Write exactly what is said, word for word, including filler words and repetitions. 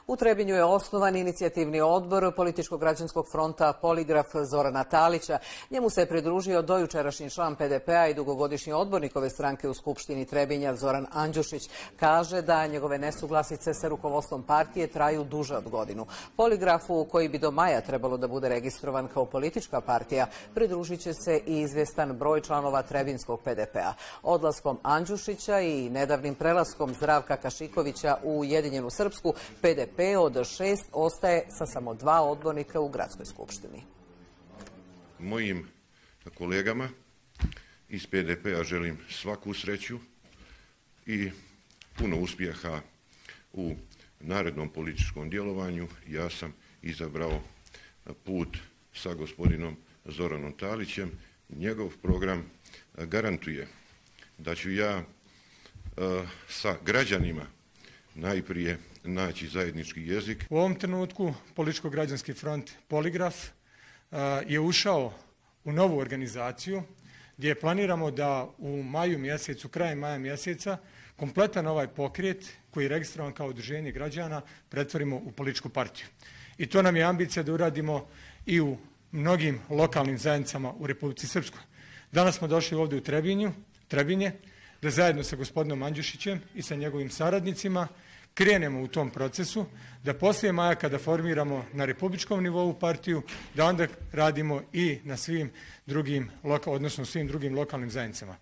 U Trebinju je osnovan inicijativni odbor Političko-građanskog fronta Poligraf Zorana Talića. Njemu se je pridružio dojučerašnji član P D P-a i dugogodišnji odbornik ove stranke u Skupštini Trebinja Zoran Andjušić. Kaže da njegove nesuglasice sa rukovodstvom partije traju duže od godinu. Poligrafu, koji bi do maja trebalo da bude registrovan kao politička partija, pridružit će se i izvjestan broj članova Trebinskog P D P-a. Odlaskom Andjušića i nedavnim prelaskom Zdravka Kašikovića u Ujedinjenu Srpsku, P D P od šest ostaje sa samo dva odbornika u Gradskoj skupštini. Mojim kolegama iz P D P-a želim svaku sreću i puno uspjeha u narednom političkom djelovanju. Ja sam izabrao put sa gospodinom Zoranom Talićem. Njegov program garantuje da ću ja sa građanima najprije naći zajednički jezik. U ovom trenutku Političko-građanski front Poligraf je ušao u novu organizaciju gdje planiramo da u maju mjesecu, krajem maja mjeseca, kompletan ovaj pokret koji je registrovan kao udruženje građana pretvorimo u političku partiju. I to nam je ambicija da uradimo i u mnogim lokalnim zajednicama u Republici Srpskoj. Danas smo došli ovdje u Trebinju, Trebinje, da zajedno sa gospodinom Andjušićem i sa njegovim saradnicima krenemo u tom procesu, da poslije maja kada formiramo na republičkom nivou partiju, da onda radimo i na svim drugim, odnosno svim drugim lokalnim zajednicama.